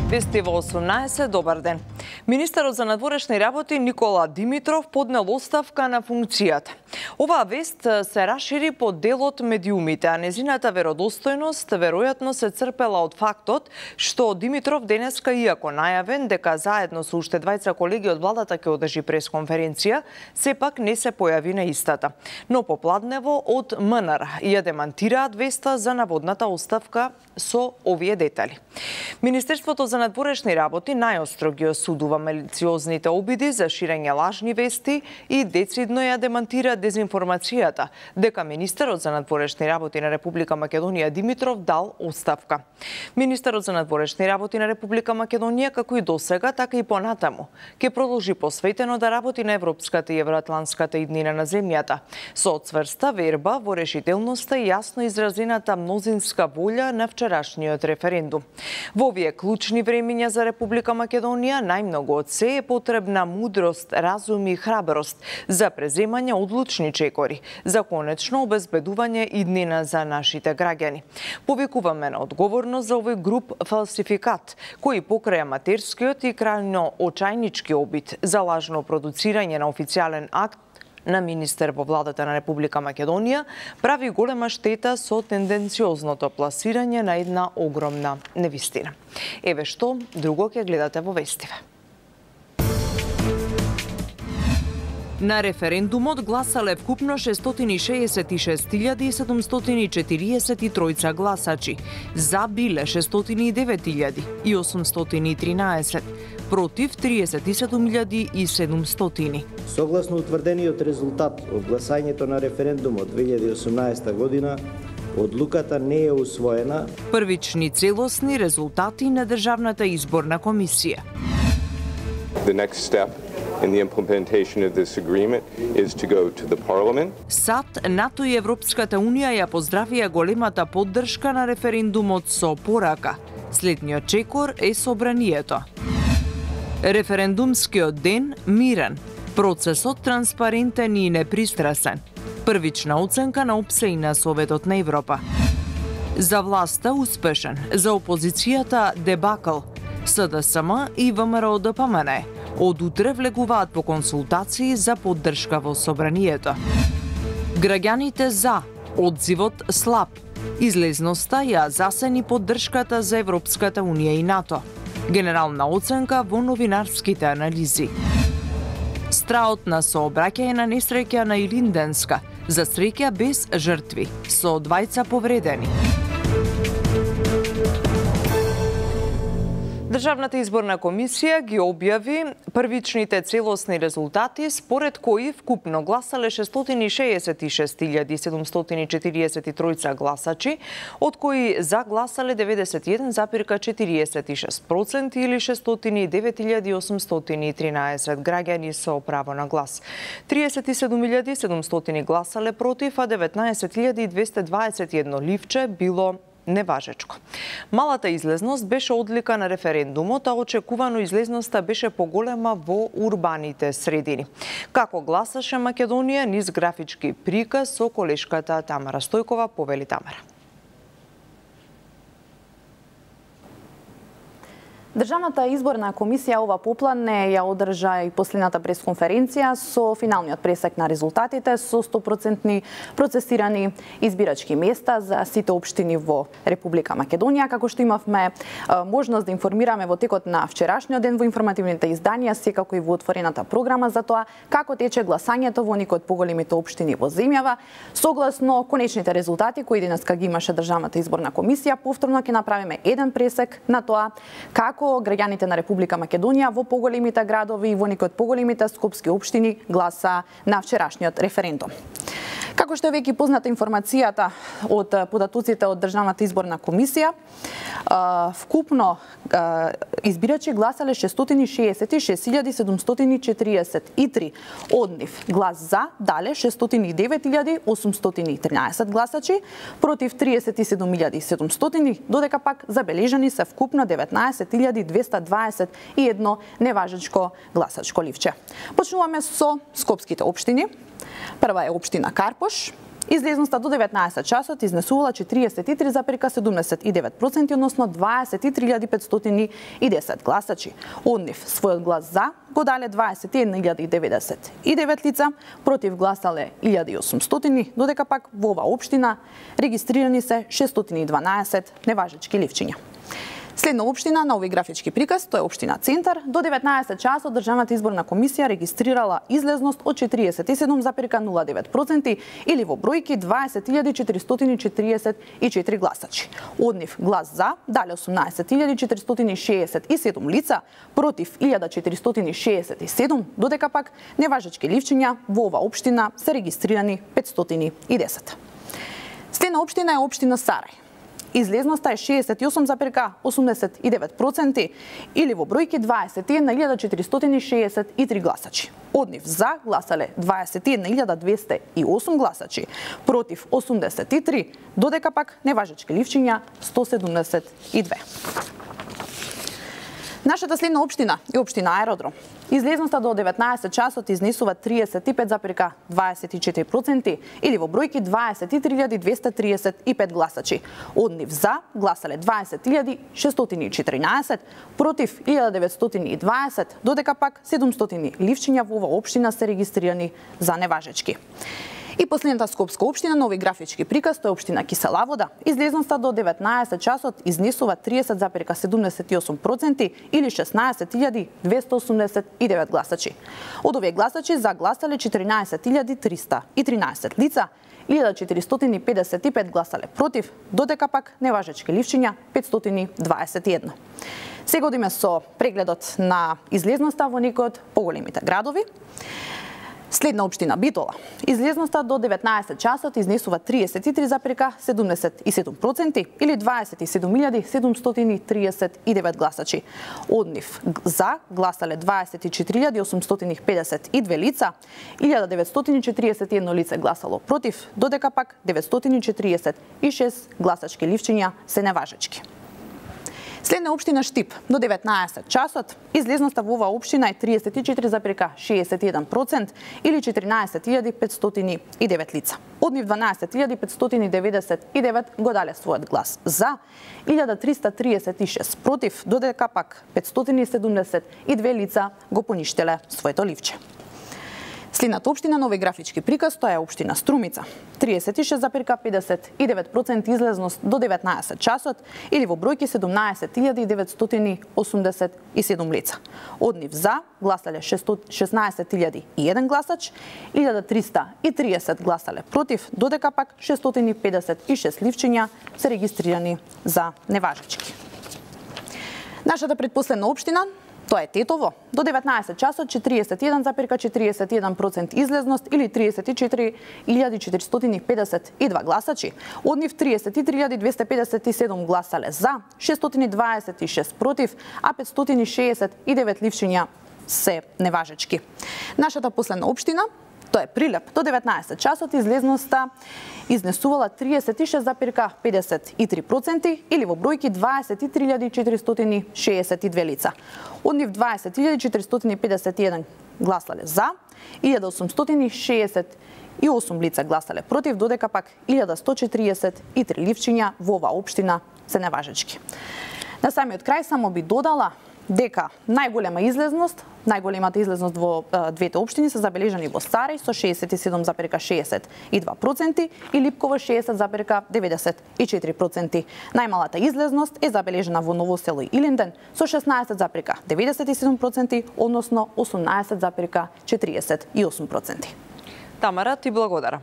Вести во 18, добар ден. Министерот за надворешни работи Никола Димитров поднел оставка на функцијата. Оваа вест се расшири по делот медиумите, а незината веродостојност веројатно се црпела од фактот што Димитров денеска, иако најавен дека заедно со уште двајца колеги од владата ќе одржи пресконференција, сепак не се појави на истата. Но попладнево од МНР ја демантираат веста за наводната оставка со овие детали. Министерството за надворешни работи најостро ги осудува малициозните обиди за ширење лажни вести и децидно ја демантира дезинформацијата дека министерот за надворешни работи на Република Македонија Димитров дал оставка. Министерот за надворешни работи на Република Македонија, како и досега, така и понатаму, ќе продолжи посветено да работи на европската и евроатланската иднина на земјата, со цврста верба во решителноста и јасно изразената мнозинска волја на вчерашниот референдум. Во овие клучни времиња за Република Македонија најмногу од се е потребна мудрост, разум и храброст за преземање одлучни чекори, за конечно обезбедување иднина за нашите граѓани. Повикуваме на одговорност за овој груп фалсификат, кој покрај аматерскиот и крајно очајнички обид за лажно продуцирање на официјален акт на министер во владата на Република Македонија, прави голема штета со тенденциозното пласирање на една огромна невистина. Еве што друго ќе гледате во вестиве. На референдумот гласале вкупно 666.743 гласачи, за биле 609.813, против 37.700. Согласно утврдениот резултат од гласањето на референдумот 2018 година, одлуката не е усвоена. Првични целосни резултати на Државната изборна комисија. The next step in the implementation of this agreement is to go to the parliament. САД, НАТО и Европската унија ја поздравија големата поддршка на референдумот со порака. Следниот чекор е собранието. Референдумскиот ден мирен, процесот транспарентен и непристрасен. Првична оценка на ОПСЕ и на Советот на Европа. За власта успешен, за опозицијата дебакл. СДСМ и ВМРО ДПМН од утре влегуваат по консултации за поддршка во собранието. Граѓаните за, одзивот слаб. Излезноста ја засени поддршката за Европската унија и НАТО. Генерална оценка во новинарските анализи. Страот на сообраќање на несреќа на Илинденска, за среќа без жртви, со двајца повредени. Државната изборна комисија ги објави првичните целосни резултати, според кои вкупно гласале 666.743 гласачи, од кои за гласале 91,46% или 609.813 граѓани со право на глас. 37.700 гласале против, а 19.221 ливче било неважечко. Малата излезност беше одлика на референдумот, а очекувано излезноста беше поголема во урбаните средини. Како гласаше Македонија низ графички приказ со колешката Тамара Стојкова, повели Тамара. Државната изборна комисија ова попладне ја одржа и последната пресконференција со финалниот пресек на резултатите со 100% процесирани избирачки места за сите општини во Република Македонија, како што имавме можност да информираме во текот на вчерашниот ден во информативните изданија, секако и во отворената програма за тоа како тече гласањето во некои од поголемите општини во земјава. Согласно конечните резултати кои денеска ги имаше Државната изборна комисија, повторно ќе направиме еден пресек на тоа како граѓаните на Република Македонија во поголемите градови и во некои од поголемите скопски општини гласа на вчерашниот референдум. Како што е веќе позната информацијата од податоците од Државната изборна комисија, вкупно избирачи гласале 666.743, од нив глас за дале 609.813 гласачи, против 37.700, додека пак забележани се вкупно 19.221 неважечко гласачко ливче. Почнуваме со скопските општини. Прва е општина Карпош, Излезноста до 19 часот изнесувала 43,79%, односно 23.510 гласачи. Од нив својот глас за го дале 21.099 лица, против гласале 1.800, додека пак во оваа општина регистрирани се 612 неважечки ливчиња. Следна општина на овој графички приказ, тоа е општина Центар, до 19 часот Државната изборна комисија регистрирала излезност од 47,09% или во бројки 20.444 гласачи. Од нив глас за дале 18.467 лица, против 1.467, додека пак неважечки ливчиња во оваа општина се регистрирани 510. Следна општина е општина Сарај. Излезноста е 68,89% или во бројки 21.463 гласачи. Од нив за гласале 21.208 гласачи, против 83, додека пак неважечки ливчиња 172. Нашата следна општина е општина Аеродром. Излезноста до 19 часот изнесува 35,24% или во бројки 23.235 гласачи. Од нив за гласале 20.614, против 1.920, додека пак 700 ливчиња во оваа општина се регистрирани за неважечки. И последната скопска општина на овој графички приказ, тоа е општина Киселавода. Излезноста до 19 часот изнесува 30,78% или 16.289 гласачи. Од овие гласачи за гласале 14.313 лица, 1.455 гласале против, додека пак неважечки ливчиња 521. Сега одиме со прегледот на излезноста во некои од поголемите градови. Следна општина Битола. Излезноста до 19 часот изнесува 33,77% или 27.739 гласачи. Од нив за гласале 24.852 лица, 1.941 лице гласало против, додека пак 946 гласачки ливчиња се неважечки. Следна општина Штип. До 19 часот излезноста во оваа општина е 34,61% или 14.509 лица. Од нив 12.599 го дале својот глас за, 1.336 против, додека пак 572 лица го поништеле своето ливче. Следната општина на овој графички приказ, тоа е општина Струмица. 36,59% излезност до 19 часот или во бројки 17.987 лица. Од нив за гласале 16.001 гласач, 1.330 гласале против, додека пак 656 ливчиња се регистрирани за неважечки. Нашата предпоследна општина, тоа е Тетово. До 19 часот 41,41% излезност или 34.452 гласачи. Од нив 33.257 гласале за, 626 против, а 569 ливчиња се неважечки. Нашата последна општина, тоа е Прилеп. До 19 часот излезноста изнесувала 36,53% или во бројки 23.462 лица. Од нив 20.451 гласале за, 1.868 лица гласале против, додека пак 1.143 ливчиња во оваа општина се неважечки. На самиот крај само би додала дека најголемата излезност во двете општини се забележани во Сарај со 67,62% и Липково 60,94%. Најмалата излезност е забележана во Ново село и Илинден со 16,97%, односно 18,48%. Тамара, ти благодарам.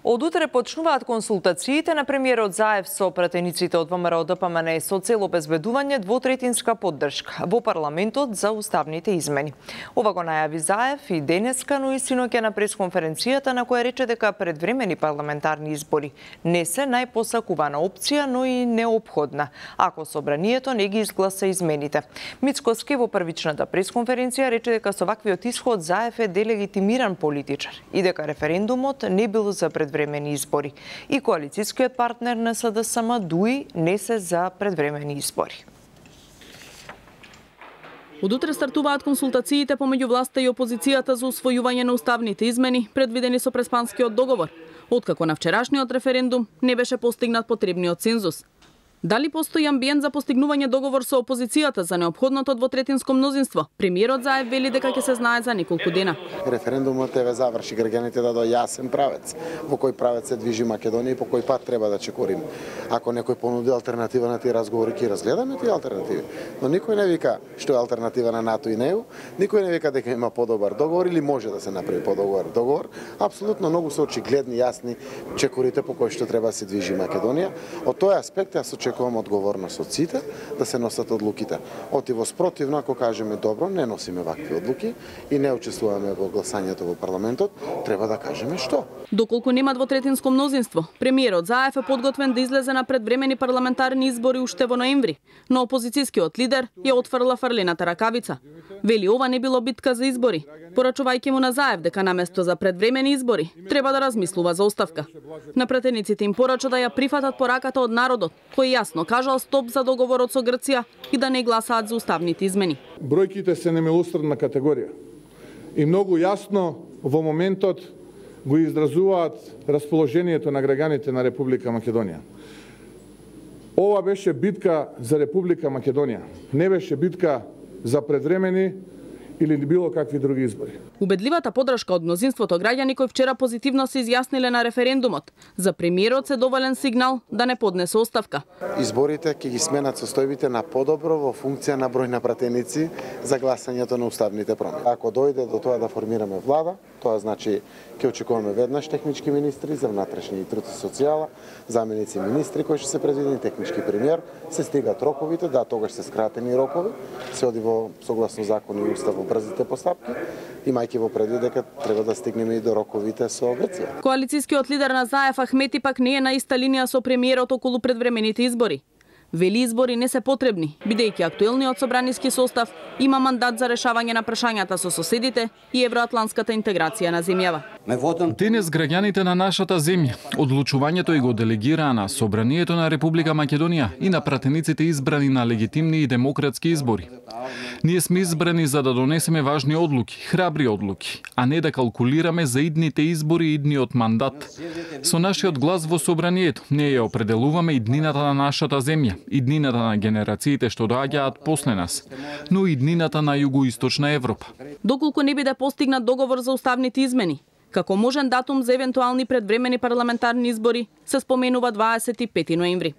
Од утре почнуваат консултациите на премиерот Заев со пратениците од ВМРО ДПМН со цел обезбедување двотретинска поддршка во парламентот за уставните измени. Ова го најави Заев и денеска, но и синоќа на пресконференцијата на која рече дека предвремени парламентарни избори не се најпосакувана опција, но и неопходна, ако собранието не ги изгласа измените. Мицкоски во првичната пресконференција рече дека со ваквиот исход Заев е делегитимиран политичар и дека референдумот не бил за предвремени избори и коалицијскиот партнер на СДСМ ДУИ не се за предвремени избори. Од утре стартуваат консултациите помеѓу власта и опозицијата за усвојување на уставните измени, предвидени со Преспанскиот договор. откако на вчерашниот референдум не беше постигнат потребниот цензус. Дали постои амбиент за постигнување договор со опозицијата за неопходното двотретинско мнозинство? Премиерот Заев вели дека ќе се знае за неколку дена. Референдумот еве заврши граѓаните да дојде јасен правец, во кој правец се движи Македонија и по кој пат треба да чекориме. Ако некој понуди алтернатива на тие разговори, ќе разгледаме тие алтернативи. Но никој не вика што е алтернатива на НАТО и НЕУ, никој не вика дека има подобар договор или може да се направи подобар договор. Апсолутно многу се очигледни, јасни чекорите по кои што треба да се движи Македонија. Од тој аспект јас очекувам одговорност од сите да се носат одлуките. Отиво спротивно, ако кажеме добро, не носиме вакви одлуки и не учествуваме во гласањето во парламентот, треба да кажеме што. Доколку нема двотретинско мнозинство, премиерот Заев е подготвен да излезе на предвремени парламентарни избори уште во ноември, но опозицијскиот лидер ја отфрла фрлената ракавица. Вели ова не било битка за избори, порачувајќи му на Заев дека наместо за предвремени избори треба да размислува за оставка. На пратениците им порача да ја прифатат пораката од народот, кој јасно кажал стоп за договорот со Грција и да не гласаат за уставните измени. Бројките се немилосредна категорија и многу јасно во моментот го изразуваат расположението на граѓаните на Република Македонија. Ова беше битка за Република Македонија, не беше битка за предвремени или било какви други избори. Убедливата подршка од мнозинството граѓани кои вчера позитивно се изјасниле на референдумот, за премиерот се доволен сигнал да не поднесе оставка. Изборите ќе ги сменат состојбите на подобро во функција на број на пратеници за гласањето на уставните промени. Ако дојде до тоа да формираме влада, тоа значи ќе очекуваме веднаш технички министри за внатрешни и труд и социјала, заменици министри кои ќе се предвидени, технички премиер, се стигат роковите, да, тогаш се скратени рокови, се оди во согласно закон и устав во брзите постапки, имајќи во предвид дека треба да стигнеме и до роковите со Грција. Коалицијскиот лидер на Заев Ахмети пак не е на иста линија со премиерот околу предвремените избори. Вели избори не се потребни, бидејќи актуелниот собраниски состав има мандат за решавање на прашањата со соседите и евроатлантската интеграција на земјава. Денес граѓаните на нашата земја одлучувањето и го делегираа на Собранието на Република Македонија и на пратениците избрани на легитимни и демократски избори. Ние сме избрани за да донесеме важни одлуки, храбри одлуки, а не да калкулираме за идните избори и идниот мандат. Со нашиот глас во Собранието ние ја определуваме иднината на нашата земја, иднината на генерациите што доаѓаат после нас, но и иднината на југоисточна Европа. Доколку не биде постигнат договор за уставните измени, како можен датум за евентуални предвремени парламентарни избори се споменува 25 ноември.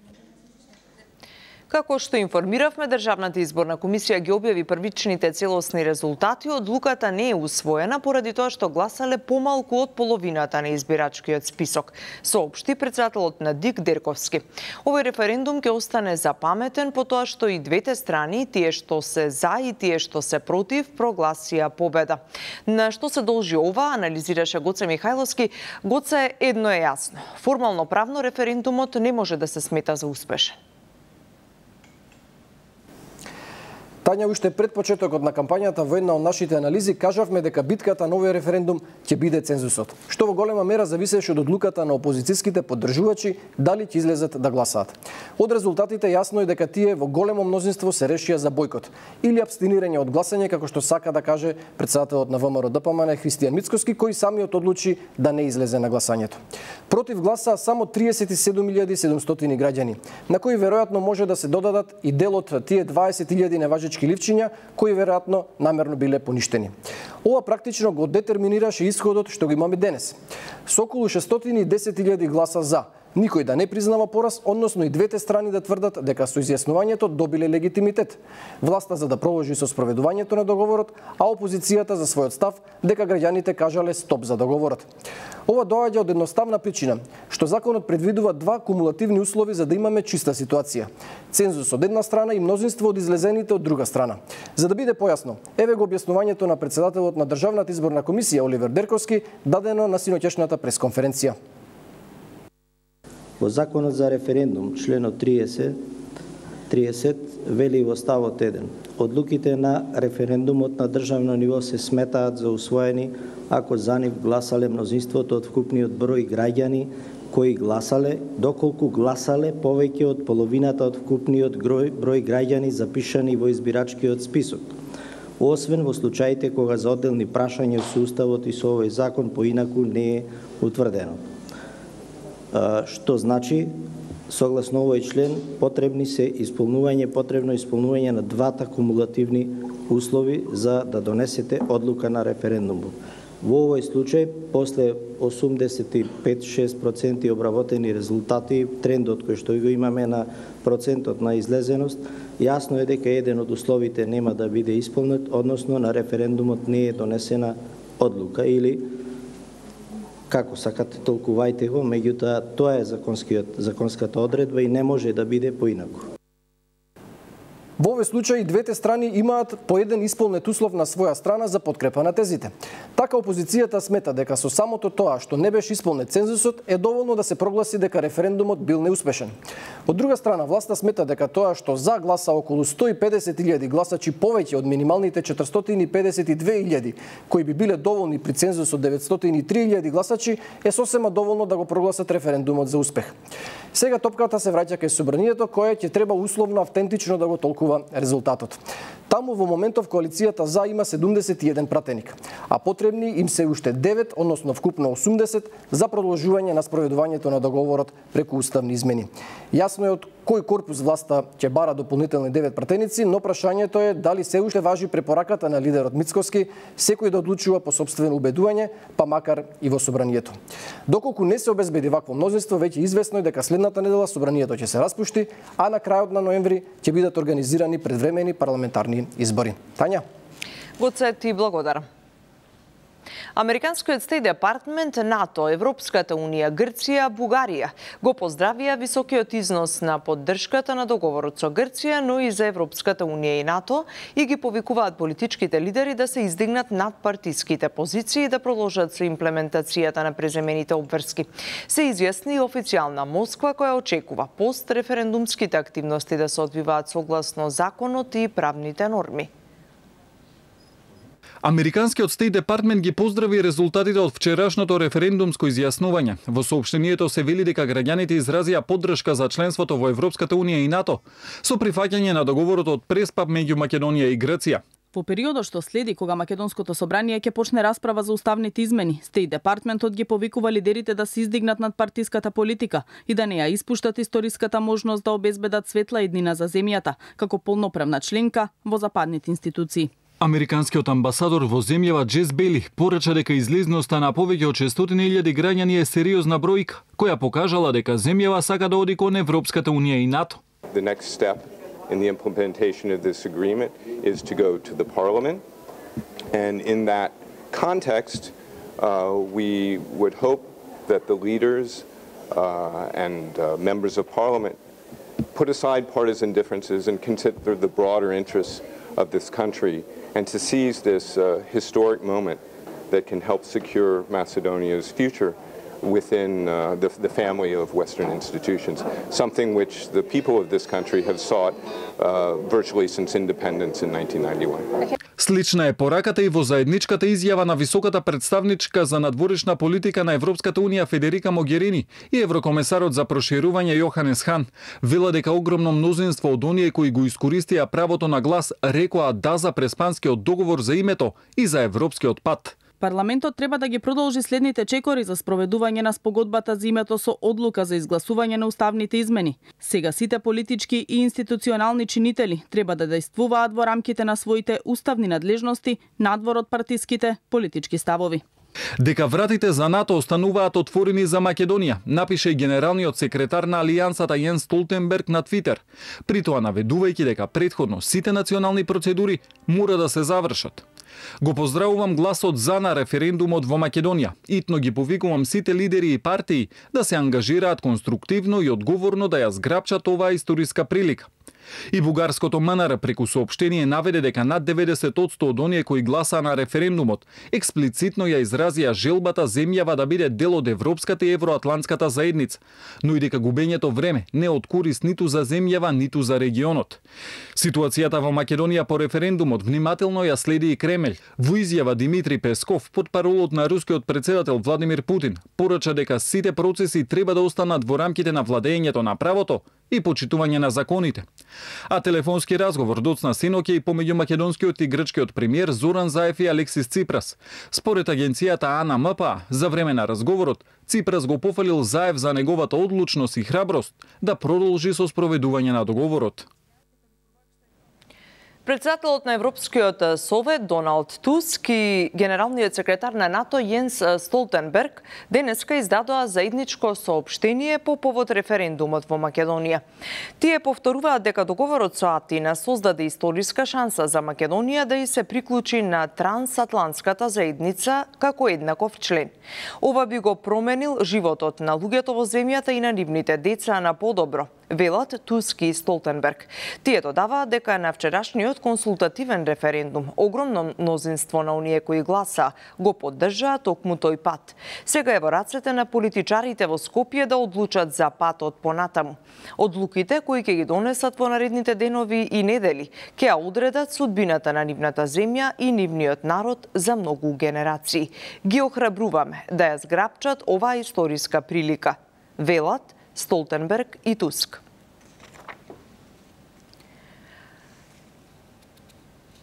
Како што информиравме, Државната изборна комисија ги објави првичните целосни резултати. Одлуката не е усвоена поради тоа што гласале помалку од половината на избирачкиот список, соопшти претседателот на ДИК Дерковски. Овој референдум ќе остане запаметен по тоа што и двете страни, тие што се за и тие што се против, прогласија победа. На што се должи ова, анализираше Гоце Михајловски. Гоце, едно е јасно. Формално правно референдумот не може да се смета за успешен. Тања, уште пред почетокот на кампањата во една од нашите анализи кажавме дека битката на овој референдум ќе биде цензусот, што во голема мера зависеше од одлуката на опозицијските поддржувачи дали ќе излезат да гласаат. Од резултатите јасно е дека тие во големо мнозинство се решија за бојкот или абстинирање од гласање, како што сака да каже претседателот на ВМРО-ДПМН Христијан Мицкоски, кој самиот одлучи да не излезе на гласањето. Против гласаа само 37.700 граѓани, на кои веројатно може да се додадат и дел од тие 20.000 неважечки ливчиња кои веројатно намерно биле поништени. Ова практично го детерминираше исходот што го имаме денес. Со околу 610.000 гласа за, никој да не признава пораз, односно и двете страни да тврдат дека со изјаснувањето добиле легитимитет. Власта за да продолжи со спроведувањето на договорот, а опозицијата за својот став дека граѓаните кажале стоп за договорот. Ова доаѓа од едноставна причина, што законот предвидува два кумулативни услови за да имаме чиста ситуација. Цензус од една страна и мнозинство од излезените од друга страна. За да биде појасно, еве го објаснувањето на претседателот на Државната изборна комисија Оливер Дерковски, дадено на синоќешната пресконференција. Во Законот за референдум, членот 30 вели во ставот 1. Одлуките на референдумот на државно ниво се сметаат за усвоени ако за нив гласале мнозинството од вкупниот број граѓани кои гласале, доколку гласале повеќе од половината од вкупниот број граѓани запишани во избирачкиот список, освен во случаите кога за одделни прашања со Уставот и со овој закон поинаку не е утврдено. што значи согласно овој член потребно исполнување на двата кумулативни услови за да донесете одлука на референдумот. Во овој случај, после 85-6% обработени резултати, трендот кој што го имаме на процентот на излезеност, јасно е дека еден од условите нема да биде исполнет, односно на референдумот не е донесена одлука или како сакате толкувајте го, меѓутоа тоа е законската одредба и не може да биде поинаку. Во овој случај двете страни имаат по еден исполнет услов на своја страна за подкрепа на тезите. Така опозицијата смета дека со самото тоа што не беше исполнет цензусот е доволно да се прогласи дека референдумот бил неуспешен. Од друга страна, власта смета дека тоа што за гласа околу 150.000 гласачи повеќе од минималните 452.000 кои би биле доволни при цензус од 903.000 гласачи е сосема доволно да го прогласат референдумот за успех. Сега топката се враќа кај собранието кое ќе треба условно автентично да го толкува резултатот. Таму во моментов коалицијата за има 71 пратеник, а потребни им се уште 9, односно вкупно 80 за продолжување на спроведувањето на договорот преку уставни измени. Јасно е од кој корпус власта ќе бара дополнителни 9 пратеници, но прашањето е дали се уште важи препораката на лидерот Мицкоски секој да одлучува по сопствено убедување, па макар и во собранието. Доколку не се обезбеди вакво мнозинство, веќе известно е дека следната недела собранието ќе се распушти, а на крајот на ноември ќе бидат организирани предвремени парламентарни избори. Тања? Гоце, ти благодарам. Американскиот Стейт Департмент, НАТО, Европската Унија, Грција, Бугарија го поздравија високиот износ на поддршката на договорот со Грција, но и за Европската Унија и НАТО и ги повикуваат политичките лидери да се издигнат над партиските позиции и да продолжат со имплементацијата на преземените обврски. Се изјасни и официјална Москва која очекува постреферендумските активности да се одвиваат согласно законот и правните норми. Американскиот Стейт Департмент ги поздрави резултатите од вчерашното референдумско изјаснување. Во соопштението се вели дека граѓаните изразија поддршка за членството во Европската Унија и НАТО со прифаќање на договорот од Преспа меѓу Македонија и Грција. Во периодот што следи, кога Македонското собрание ќе почне расправа за уставните измени, Стейт Департментот ги повикува лидерите да се издигнат над партиската политика и да не ја испуштат историската можност да обезбедат светла иднина за земјата, како полноправна членка во западните институции. Американскиот амбасадор во земјава Джес Бейли порача дека излезноста на повеќе од 600.000 граѓани е сериозна бројка, која покажала дека земјава сака да оди кон Европската Унија и НАТО. The next step in the implementation of this agreement is to go to the Parliament, and in that context, we would hope that the leaders and members of Parliament put aside partisan differences and consider the broader interests of this country and to seize this historic moment that can help secure Macedonia's future within the family of Western institutions, something which the people of this country have sought virtually since independence in 1991. Слична е пораката и во заедничката изјава на високата представничка за надворешна политика на Европската Унија Федерика Могерини и еврокомесарот за проширување Јоханес Хан. Вела дека огромно мнозинство од оние кои го искористија правото на глас рекоа да за Преспанскиот договор за името и за европскиот пат. Парламентот треба да ги продолжи следните чекори за спроведување на спогодбата за името со одлука за изгласување на уставните измени. Сега сите политички и институционални чинители треба да действуваат во рамките на своите уставни надлежности надвор од партиските политички ставови. Дека вратите за НАТО остануваат отворени за Македонија, напише генералниот секретар на Алијансата Јенс Столтенберг на Твитер, при тоа наведувајќи дека претходно сите национални процедури мора да се завршат. Го поздравувам гласот за на референдумот во Македонија. Итно ги повикувам сите лидери и партии да се ангажираат конструктивно и одговорно да ја зграпчат оваа историска прилика. И бугарското МНР преку соопштение наведе дека над 90% од оние кои гласаа на референдумот експлицитно ја изразија желбата земјава да биде дел од европската и евроатлантската заедница, но и дека губењето време не е од корист ниту за земјава, ниту за регионот. Ситуацијата во Македонија по референдумот внимателно ја следи и Кремљ. Во изјава Димитри Песков, потпаролот на рускиот претседател Владимир Путин, порача дека сите процеси треба да останат во рамките на владењето на правото и почитување на законите. А телефонски разговор доцна синоќа и помеѓу македонскиот и грчкиот премиер Зоран Заев и Алексис Ципрас. Според агенцијата АНМП, за време на разговорот, Ципрас го пофалил Заев за неговата одлучност и храброст да продолжи со спроведување на договорот. Председателот на Европскиот совет Доналд Туск и генералниот секретар на НАТО Јенс Столтенберг денеска издадоа заедничко соопштение по повод референдумот во Македонија. Тие повторуваат дека договорот со Атина создаде историска шанса за Македонија да и се приклучи на трансатлантската заедница како еднаков член. Ова би го променил животот на луѓето во земјата и на нивните деца на подобро, велат Туск и Столтенберг. Тие додаваат дека на вчерашниот консултативен референдум огромно мнозинство на оние кои гласа го поддржаа токму тој пат. Сега е во рацете на политичарите во Скопје да одлучат за патот понатаму. Одлуките кои ќе ги донесат во наредните денови и недели ќе одредат судбината на нивната земја и нивниот народ за многу генерации. Ги охрабруваме да ја зграпчат оваа историска прилика, велат Столтенберг и Туск.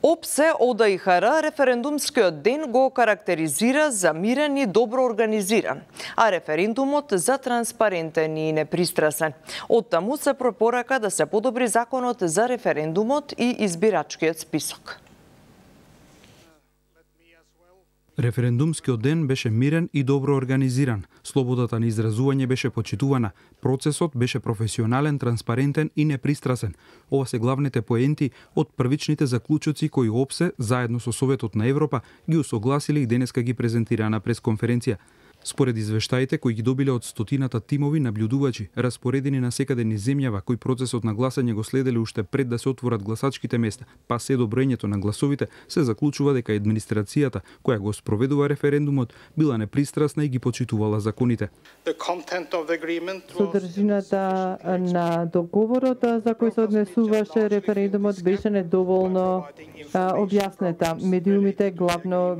ОПСЕ ОДИХР референдумскиот ден го карактеризира за мирен и добро организиран, а референдумот за транспарентен и непристрасен. Оттаму се препорака да се подобри законот за референдумот и избирачкиот список. Референдумскиот ден беше мирен и добро организиран. Слободата на изразување беше почитувана. Процесот беше професионален, транспарентен и непристрасен. Ова се главните поенти од првичните заклучоци кои ОПСЕ, заедно со Советот на Европа, ги усогласиле и денеска ги презентираа на пресконференција. Според извештаите кои ги добиле од стотината тимови наблюдувачи, распоредени на секаде низ земјава, кои процесот на гласање го следеле уште пред да се отворат гласачките места, па се до броењето на гласовите, се заклучува дека администрацијата, која го спроведува референдумот, била непристрасна и ги почитувала законите. Содржината на договорот за кој се однесуваше референдумот беше недоволно објаснета. Медиумите главно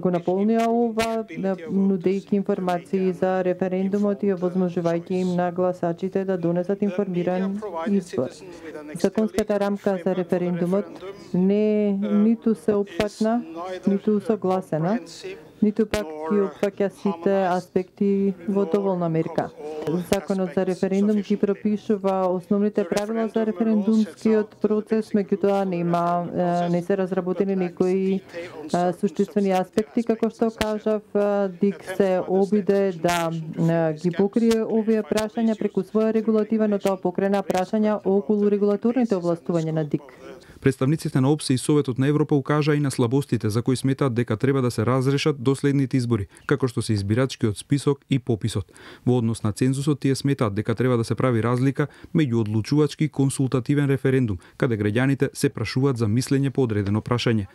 го наполнија ова, нудејќи информации за референдумот и овозможувајќи им на гласачите да донесат информиран избор. Законската рамка за референдумот ниту се опфатна, ниту согласена, ниту пак ги опфаќа сите аспекти во доволна мерка. Законот за референдум ги пропишува основните правила за референдумскиот процес, меѓутоа не се разработени некои суштествени аспекти, како што кажав, ДИК се обиде да ги покрие овие прашања преку своја регулатива, но тоа покрена прашања околу регулаторните овластувања на ДИК. Представниците на ОПСЕ и Советот на Европа укажаа и на слабостите за кои сметаат дека треба да се разрешат до следните избори, како што се избирачкиот список и пописот. Во однос на цензусот, тие сметаат дека треба да се прави разлика меѓу одлучувачки и консултативен референдум, каде граѓаните се прашуваат за мислење по одредено прашање.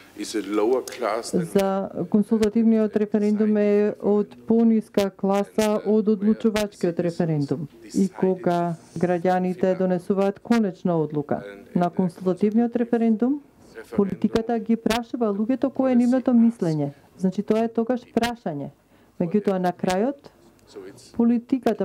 За консултативниот референдум е од пониска класа од одлучувачкиот референдум. И кога граѓаните донесуваат конечна одлука на консултативниот референдум, политиката ги прашува луѓето кое е нивното мислење. Значи тоа е тогаш прашање. Меѓутоа на крајот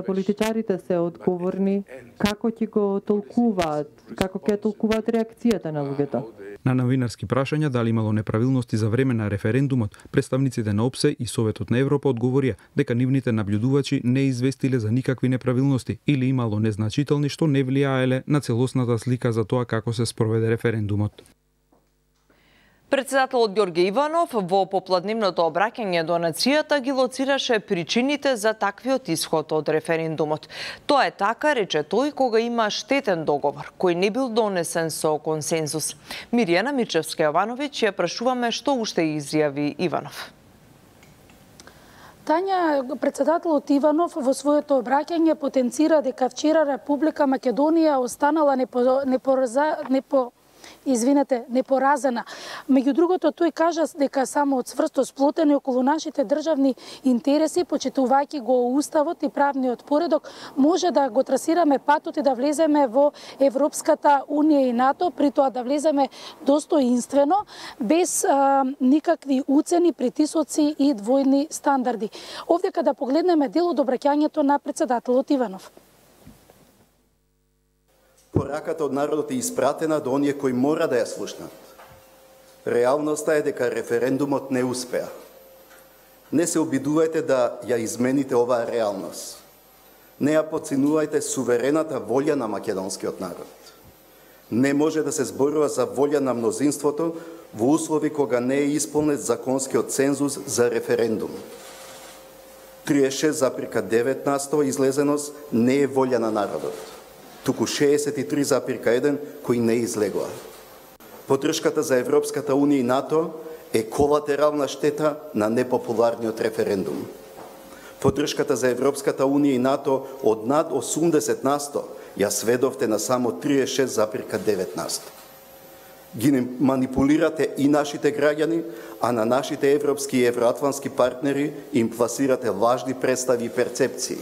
политичарите се одговорни како ќе го толкуваат, како ќе толкуваат реакцијата на луѓето. На новинарски прашања дали имало неправилности за време на референдумот, представниците на ОПСЕ и Советот на Европа одговорија дека нивните наблюдувачи не известиле за никакви неправилности или имало незначителни што не влијаеле на целосната слика за тоа како се спроведе референдумот. Председателот Ѓорѓе Иванов во попладневното обраќање до нацијата ги лоцираше причините за таквиот исход од референдумот. Тоа е така, рече тој, кога има штетен договор, кој не бил донесен со консензус. Миријана Мирчевска-Јовановиќ ја прашуваме што уште изјави Иванов. Тања, председателот Иванов во своето обраќање потенцира дека вчера Република Македонија останала непоразена. Меѓу другото, тој кажа дека само од цврсто сплотени околу нашите државни интереси, почитувајќи го уставот и правниот поредок, може да го трасираме патот и да влеземе во Европската унија и НАТО, при тоа да влеземе достоинствено, без никакви уцени, притисоци и двојни стандарди. Овде када погледнеме дел од обраќањето на председателот Иванов. Пораката од народот е испратена до оние кои мора да ја слушнат. Реалноста е дека референдумот не успеа. Не се обидувајте да ја измените оваа реалност. Не ја подценувајте суверената волја на македонскиот народ. Не може да се зборува за волја на мнозинството во услови кога не е исполнет законскиот цензус за референдум. 36,9% излезеност не е волја на народот, туку 63,1% кои не излегоа. Поддршката за Европската Унија и НАТО е колатерална штета на непопуларниот референдум. Поддршката за Европската Унија и НАТО од над 80% ја сведовте на само 36,9%. Ги манипулирате и нашите граѓани, а на нашите европски и евроатлантски партнери им пласирате лажни представи и перцепции.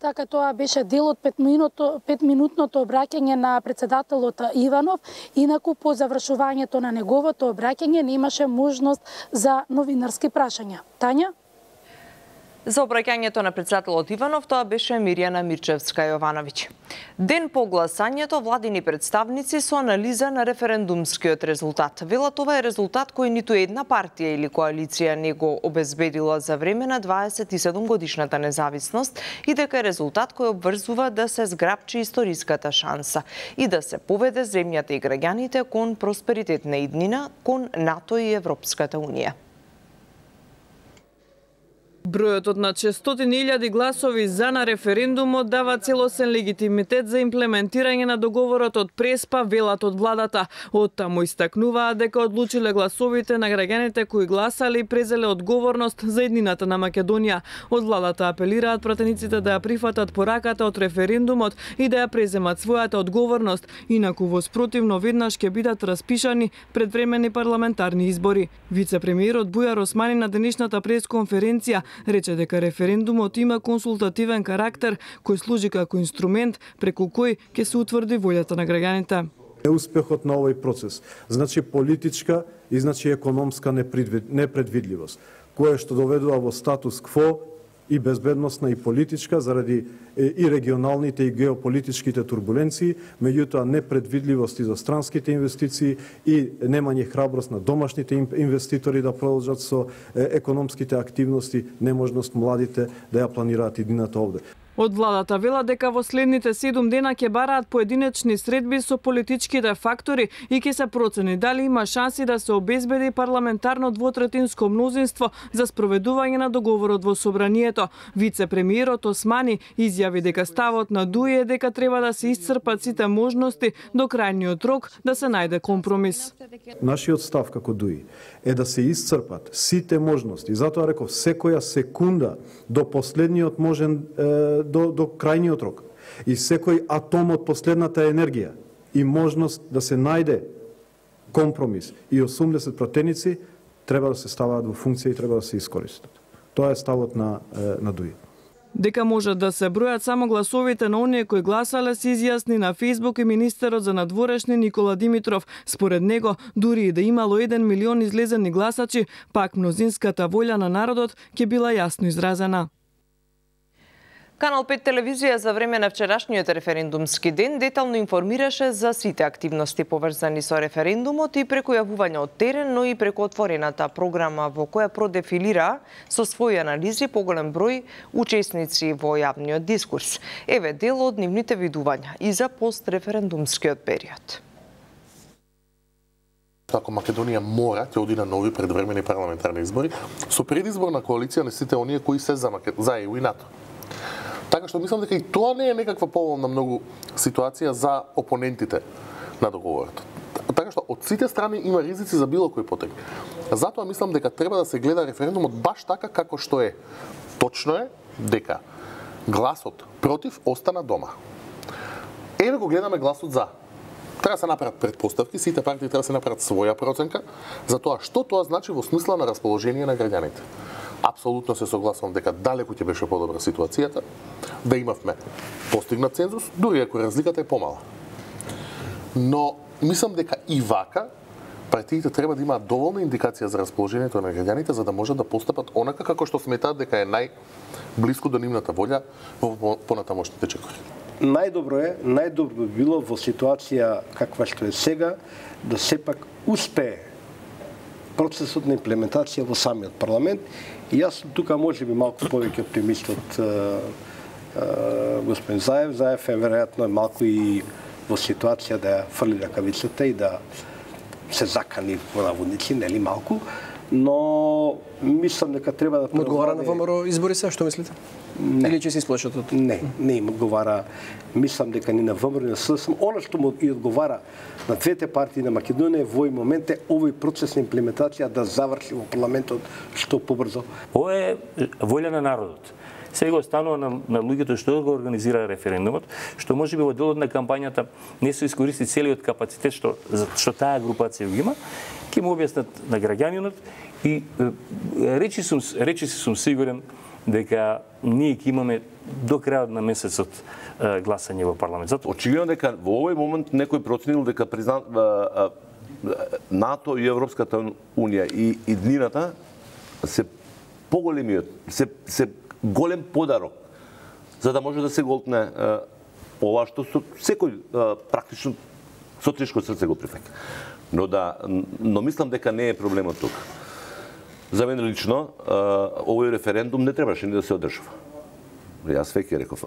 Така, тоа беше дел од 5-минутното обраќање на председателот Иванов. Инаку, по завршувањето на неговото обраќање немаше можност за новинарски прашања. Тања? За обраќањето на председателот Иванов, тоа беше Мирјана Мирчевска-Јовановиќ. Ден по гласањето, владини представници со анализа на референдумскиот резултат. Велат, ова е резултат кој ниту една партија или коалиција не го обезбедила за време на 27-годишната независност и дека е резултат кој обврзува да се зграпчи историската шанса и да се поведе земјата и граѓаните кон просперитетна иднина, кон НАТО и Европската Унија. Бројот од над 600.000 гласови за на референдумот дава целосен легитимитет за имплементирање на договорот од Преспа, велат од владата. Оттаму истакнуваат дека одлучиле гласовите на граѓаните кои гласале и презеле одговорност за еднината на Македонија. Од владата апелираат пратениците да ја прифатат пораката од референдумот и да ја преземат својата одговорност, инаку во спротивно веднаш ќе бидат распишани предвремени парламентарни избори. Вице-премиерот Бујар Османи на денешната пресконференција рече дека референдумот има консултативен карактер кој служи како инструмент преку кој ќе се утврди волјата на граѓаните. Успехот на овој процес значи политичка и значи економска непредвидливост, која што доведува во статус кво и безбедносна и политичка заради и регионалните и геополитичките турбуленции, меѓутоа непредвидливости за странските инвестиции и немање храброст на домашните инвеститори да продолжат со економските активности, неможност младите да ја планираат иднината овде. Од владата вела дека во следните 7 дена ќе бараат поединечни средби со политичките фактори и ќе се процени дали има шанси да се обезбеди парламентарно двотретинско мнозинство за спроведување на договорот во собранието. Вице-премиерот Османи изјави дека ставот на ДУИ е дека треба да се исцрпат сите можности до крајниот рок да се најде компромис. Нашиот став како ДУИ е да се исцрпат сите можности. Затоа реков секоја секунда до последниот можен до крајниот рок и секој атом од последната енергија и можност да се најде компромис и 80 пратеници треба да се ставаат во функција и треба да се искористат. Тоа е ставот на ДУИ. Дека можат да се бројат само гласовите на оние кои гласале се изјасни на Фејсбук и министерот за надворешни Никола Димитров. Според него, дури и да имало 1 милион излезени гласачи, пак мнозинската волја на народот ќе била јасно изразена. Канал 5 телевизија за време на вчерашниот референдумски ден детално информираше за сите активности поврзани со референдумот и преку јавување од терен, но и преку отворената програма во која продефилира со своји анализи поголем број учесници во јавниот дискурс. Еве дел од нивните видувања и за постреферендумскиот период. Ако Македонија мора ќе оди на нови предвремени парламентарни избори со предизборна коалиција на сите оние кои се за ЕУ и НАТО. Така што мислам дека и тоа не е некаква поволна многу ситуација за опонентите на договорот. Така што од сите страни има ризици за било кој потек. Затоа мислам дека треба да се гледа референдумот баш така како што е. Точно е дека гласот против остана дома. Еве го гледаме гласот за. Треба да се направат претпоставки, сите партии треба да се направат своја проценка за тоа што тоа значи во смисла на расположение на граѓаните. Апсолутно се согласувам дека далеку ќе беше подобра ситуацијата, да имавме постигнат цензус, дури ако разликата е помала. Но мислам дека и вака партиите треба да имаат доволна индикација за расположението на граѓаните за да можат да постапат онака како што сметаат дека е најблиску до нивната волја во понатамошните чекори. најдобро би било во ситуација каква што е сега, да сепак успее процесот на имплементација во самиот парламент. И јас тука може би малку повеќе оптимист од господин Заев. Заев е веројатно малку и во ситуација да ја фрли ракавицата и да се закани во наводници, нели малку, но мислам дека треба да одговара на ВМРО избори се, што мислите? Не. Или ќе се исплашат од? Не им одговара. Мислам дека ни на ВМРО ни на СДСМ, она што му и одговара на двете партии на Македонија во овој момент е овој процес на имплементација да заврши во парламентот што побрзо. Ова е волја на народот. Сега останува на луѓето што го организира референдумот, што можеби во делот на кампањата не се искористи целиот капацитет што таа групација го има, ќе му објаснат на граѓанинот и речи сум сигурен дека ние ќе имаме до крајот на месецот гласање во парламент. Очигледно дека во овој момент некој проценил дека НАТО и Европската унија и иднината се поголемиот, се голем подарок за да може да се голтне ова што секој практично со тешко срце го прифаќа. Но мислам дека не е проблемот тука. За мене лично овој референдум не требаше ни да се одржува. Јас веќе реков.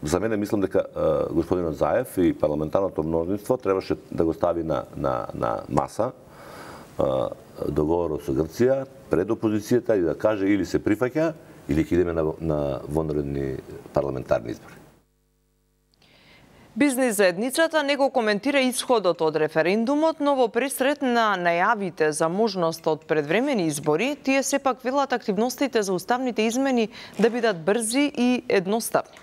За мене мислам дека господинот Заев и парламентарното мнозинство требаше да го стави на маса договорот со Грција пред опозицијата и да каже или се прифаќа или ќе идеме на вонредни парламентарни избори. Бизнис заедницата не го коментира исходот од референдумот, но во пресрет на најавите за можност од предвремени избори, тие сепак велат активностите за уставните измени да бидат брзи и едноставни.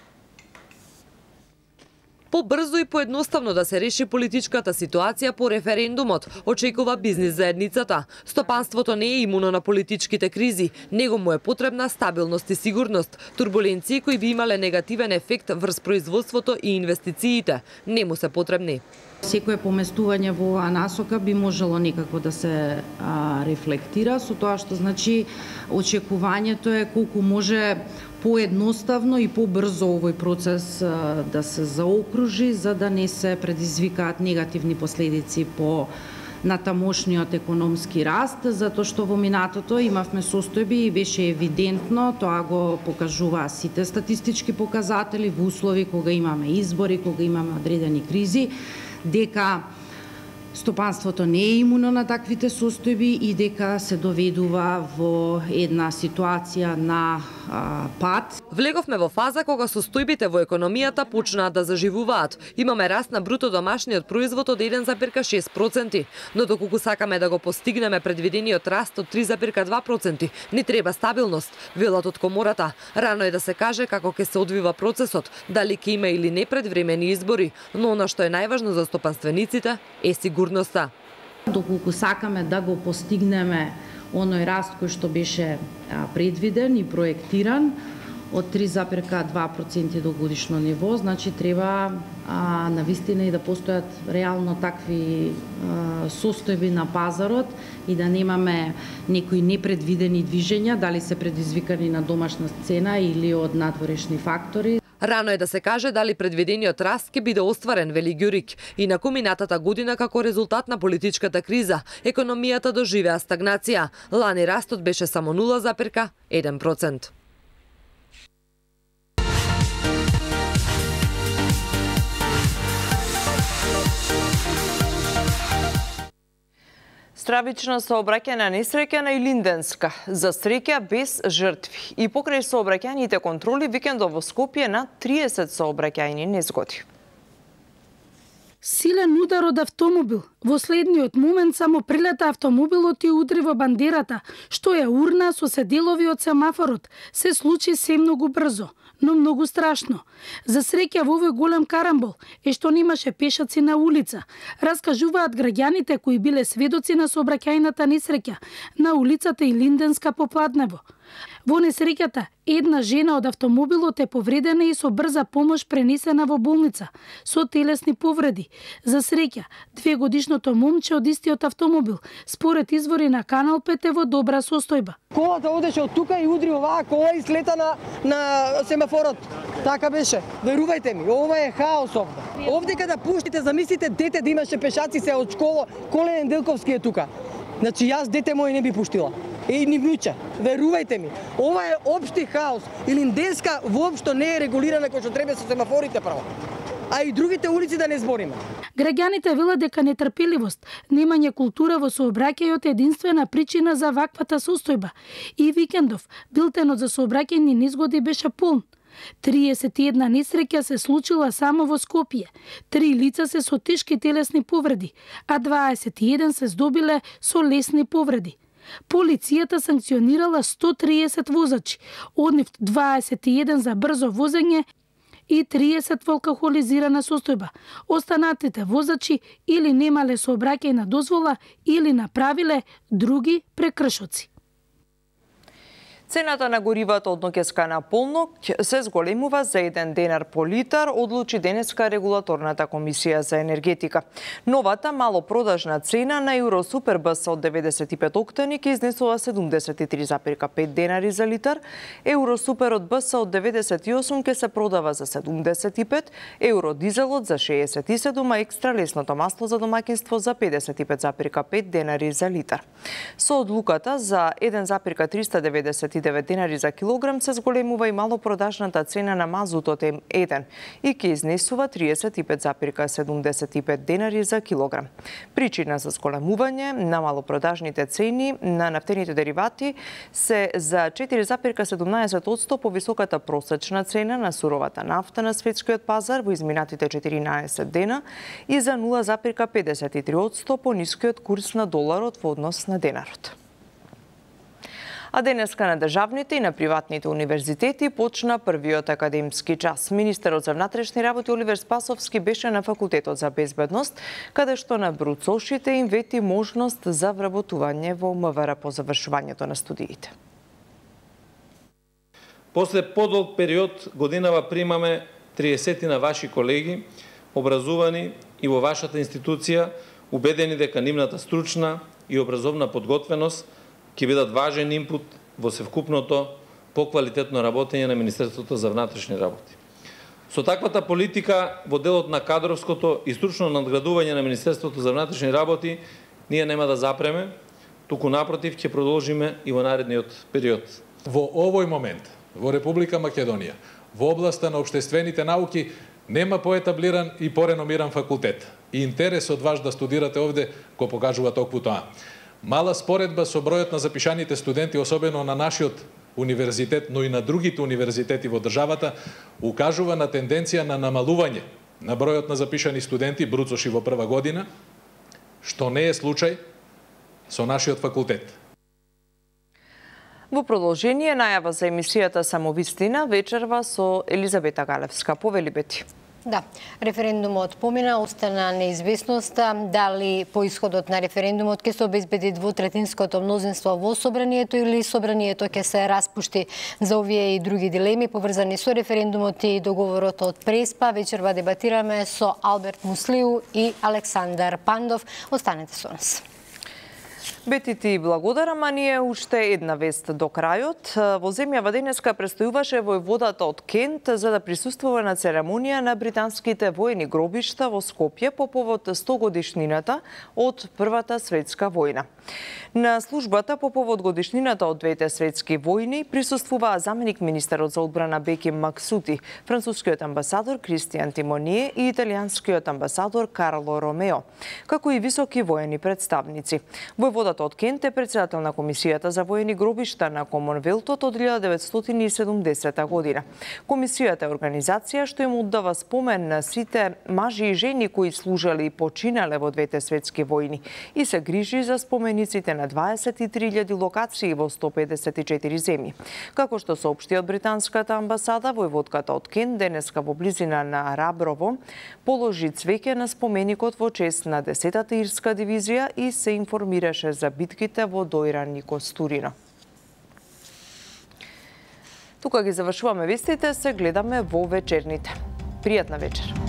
Побрзо и поедноставно да се реши политичката ситуација по референдумот, очекува бизнис заедницата. Стопанството не е имуно на политичките кризи, него му е потребна стабилност и сигурност. Турбуленции кои би имале негативен ефект врз производството и инвестициите не му се потребни. Секое поместување во оваа насока би можело некако да се рефлектира со тоа што значи очекувањето е колку може поедноставно и побрзо овој процес да се заокружи за да не се предизвикаат негативни последици по натамошниот економски раст, затоа што во минатото имавме состојби и беше евидентно, тоа го покажуваа сите статистички показатели во услови кога имаме избори, кога имаме одредени кризи, дека стопанството не е имуно на таквите состојби и дека се доведува во една ситуација на пат. Влеговме во фаза кога состојбите во економијата почнаа да заживуваат. Имаме раст на бруто домашниот производ од 1,6%, но доколку сакаме да го постигнеме предвидениот раст од 3,2%, ни треба стабилност, велат од комората. Рано е да се каже како ќе се одвива процесот, дали ќе има или не предвремени избори, но она што е најважно за стопанствениците е сигурноста. Доколку сакаме да го постигнеме оној раст кој што беше предвиден и проектиран од 3,2% до годишно ниво, значи треба навистина и да постојат реално такви состојби на пазарот и да немаме некои непредвидени движења, дали се предизвикани на домашна сцена или од надворешни фактори. Рано е да се каже дали предвидениот раст ќе биде остварен, вели Ѓурик. И на минатата година како резултат на политичката криза, економијата доживеа стагнација. Лани растот беше само 0,1%. Стравична сообраќајна несреќа на Илинденска, за среќа без жртви. И покрај сообраќајните контроли, викендов во Скопје на 30 сообраќајни незгоди. Силен удар од автомобил. Во следниот момент само прилета автомобилот и удри во бандерата, што ја урна со седелови од семафорот. Се случи се многу брзо, но многу страшно. За среќа во овој голем карамбол е што немаше пешаци на улица. Раскажуваат граѓаните кои биле сведоци на сообраќајната несреќа на улицата Илинденска по Пладнево. Во несреќата, една жена од автомобилот е повредена и со брза помош пренесена во болница со телесни повреди. За среќа, 2-годишното момче од истиот автомобил, според извори на Канал 5 е во добра состојба. Колата одеше од тука и удри оваа кола и слета на семафор. семафорот. Така беше. Верувајте ми, ова е хаос овде. Овде када пуштите, замислите дете да имаше пешаци се од школа, Колен Неделковски е тука. Значи јас дете мој не би пуштила. И ни внуче, верувајте ми, ова е општи хаос. Илинденска воопшто не е регулирана кој што треба со семафорите прво. А и другите улици да не збориме. Граѓаните велат дека нетрпеливост, немање култура во сообраќајот е единствена причина за ваквата состојба. И викендов, билтенот за сообраќајни незгоди беше полн. 31 несреќа се случила само во Скопје. 3 лица се со тешки телесни повреди, а 21 се здобиле со лесни повреди. Полицијата санкционирала 130 возачи, од нив 21 за брзо возење и 30 во алкохолизирана состојба. Останатите возачи или немале сообраќајна дозвола или направиле други прекршоци. Цената на горивата од ноќеска на полноќ се зголемува за 1 денар по литар, одлучи денеска регулаторната комисија за енергетика. Новата малопродажна цена на Евросупер БС од 95 октани ќе изнесува 73,5 денари за литар, Евросупер од БС од 98 ќе се продава за 75, Евродизелот за 67, а екстра лесното масло за домаќинство за 55,5 денари за литар. Со одлуката за 1,399 денари за килограм се зголемува и малопродажната цена на мазутот М1 и ќе изнесува 35,75 денари за килограм. Причина за зголемување на малопродажните цени на нафтените деривати се за 4,17% повисоката просечна цена на суровата нафта на светскиот пазар во изминатите 14 дена и за 0,53% понискиот курс на доларот во однос на денарот. А денеска на државните и на приватните универзитети почна првиот академски час. Министерот за внатрешни работи Оливер Спасовски беше на Факултетот за безбедност, каде што на бруцошите им вети можност за вработување во МВР по завршувањето на студиите. После подолг период годинава примаме 30 на ваши колеги, образувани и во вашата институција, убедени дека нивната стручна и образовна подготвеност ќе бидат важен инпут во севкупното поквалитетно работење на Министерството за внатрешни работи. Со таквата политика во делот на кадровското и стручно надградување на Министерството за внатрешни работи ние нема да запреме, туку напротив ќе продолжиме и во наредниот период. Во овој момент во Република Македонија во областа на општествените науки нема поетаблиран и пореномиран факултет. И интересот ваш да студирате овде го покажува токму тоа. Мала споредба со бројот на запишаните студенти, особено на нашиот универзитет, но и на другите универзитети во државата, укажува на тенденција на намалување на бројот на запишани студенти, бруцоши во прва година, што не е случај со нашиот факултет. Во продолжение најава за емисијата Самовистина вечерва со Елизабета Галевска. Повели Бети. Да, референдумот помина, остана неизвестноста дали по исходот на референдумот ќе се обезбеди двотретинското мнозинство во собранието или собранието ќе се распушти. За овие и други дилеми поврзани со референдумот и договорот од Преспа вечерва дебатираме со Алберт Муслиу и Александар Пандов. Останете со нас. Бети ти благодарам, а ние уште една вест до крајот. Во земјава денеска престојуваше војводата од Кент за да присуствува на церемонија на британските воени гробишта во Скопје по повод 100 годишнината од Првата светска војна. На службата по повод годишнината од двете светски војни присуствуваа заменик министерот за одбрана Беким Максути, францускиот амбасадор Кристијан Тимоние и италијанскиот амбасадор Карло Ромео, како и високи воени представници. Војводата од Кент е председател на Комисијата за воени гробишта на Комонвелтот од 1970 година. Комисијата е организација што им оддава спомен на сите мажи и жени кои служеле и починале во двете светски војни и се грижи за спомениците на 23.000 локации во 154 земји. Како што соопшти од британската амбасада, војводката од Кент денеска во близина на Раброво положи цвеќе на споменикот во чест на 10-та ирска дивизија и се информираше за битките во Дојран и Костурино. Тука ги завршуваме вестите, се гледаме во вечерните. Пријатна вечер.